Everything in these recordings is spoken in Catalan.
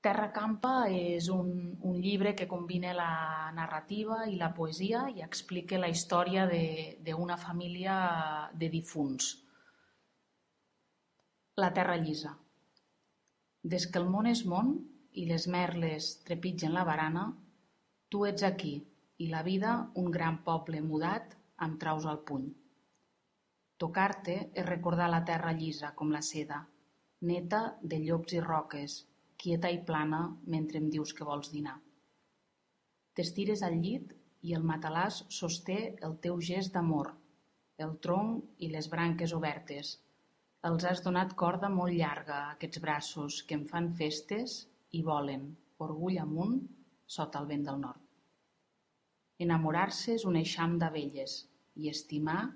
Terra Campa és un llibre que combina la narrativa i la poesia i explica la història d'una família de difunts. La terra llisa. Des que el món és món i les merles trepitgen la barana, tu ets aquí i la vida un gran poble mudat amb traus al puny. Tocar-te és recordar la terra llisa com la seda, neta de llops i roques, quieta i plana mentre em dius que vols dinar. T'estires al llit i el matalàs sosté el teu gest d'amor, el tronc i les branques obertes. Els has donat corda molt llarga a aquests braços que em fan festes i volen, orgull amunt, sota el vent del nord. Enamorar-se és un eixam d'abelles i estimar,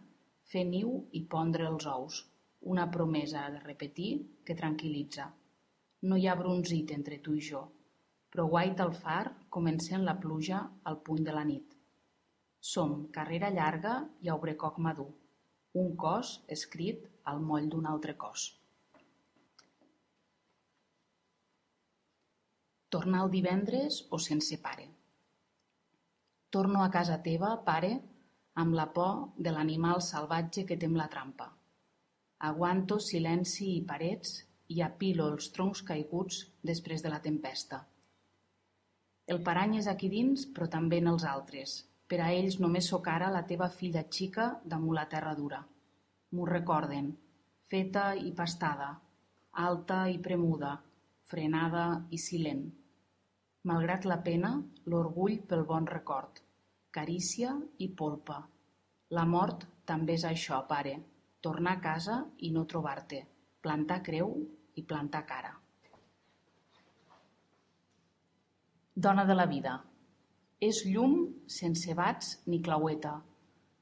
fer niu i pondre els ous, una promesa de repetir que tranquil·litza. No hi ha brunzit entre tu i jo, però guaita el far com encén la pluja al puny de la nit. Som carrera llarga i aubrecoc madur, un cos escrit al moll d'un altre cos. Tornar el divendres o sense pare. Torno a casa teva, pare, amb la por de l'animal salvatge que tem la trampa. Aguanto silenci i parets i apilo els troncs caiguts després de la tempesta. El parany és aquí dins, però també en els altres. Per a ells només sóc ara la teva filla xica damunt la terra dura. M'ho recorden, feta i pastada, alta i premuda, frenada i silent. Malgrat la pena, l'orgull pel bon record, carícia i polpa. La mort també és això, pare, tornar a casa i no trobar-te, plantar creu i plantar cara. Dona de la vida. És llum sense bats ni claueta,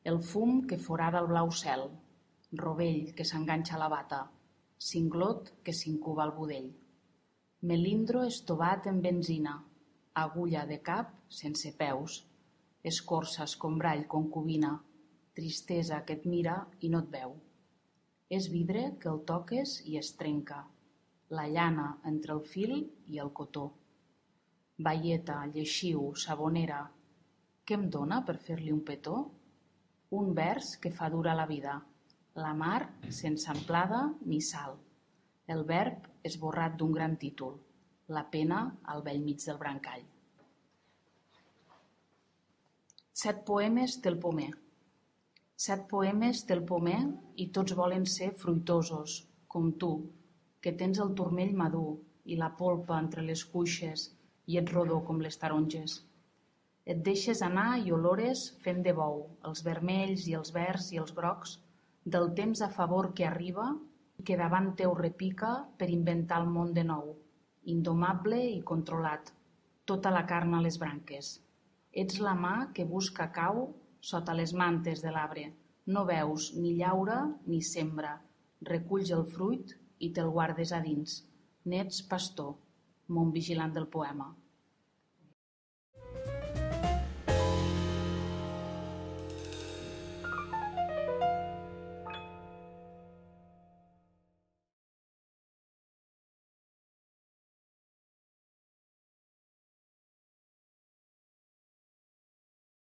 el fum que forada el blau cel, rovell que s'enganxa a la bata, cinglot que s'incuba al budell. Melindro estovat en benzina, agulla de cap sense peus, escorça escombrall concubina, tristesa que et mira i no et veu. És vidre que el toques i es trenca, la llana entre el fil i el cotó. Baieta, lleixiu, sabonera, què em dona per fer-li un petó? Un vers que fa dura la vida, la mar sense amplada ni sal, el verb esborrat d'un gran títol, la pena al bell mig del brancall. 7 poemes del pomer. 7 poemes del pomer i tots volen ser fruitosos, com tu, que tens el turmell madur i la polpa entre les cuixes i ets rodó com les taronges. Et deixes anar i olores fent de bou, els vermells i els verds i els grocs, del temps a favor que arriba i que davant teu repica per inventar el món de nou, indomable i controlat, tota la carn a les branques. Ets la mà que busca cau sota les mantes de l'arbre, no veus ni llaura ni sembra, reculls el fruit i te'l guardes a dins. N'ets pastor, mon vigilant del poema.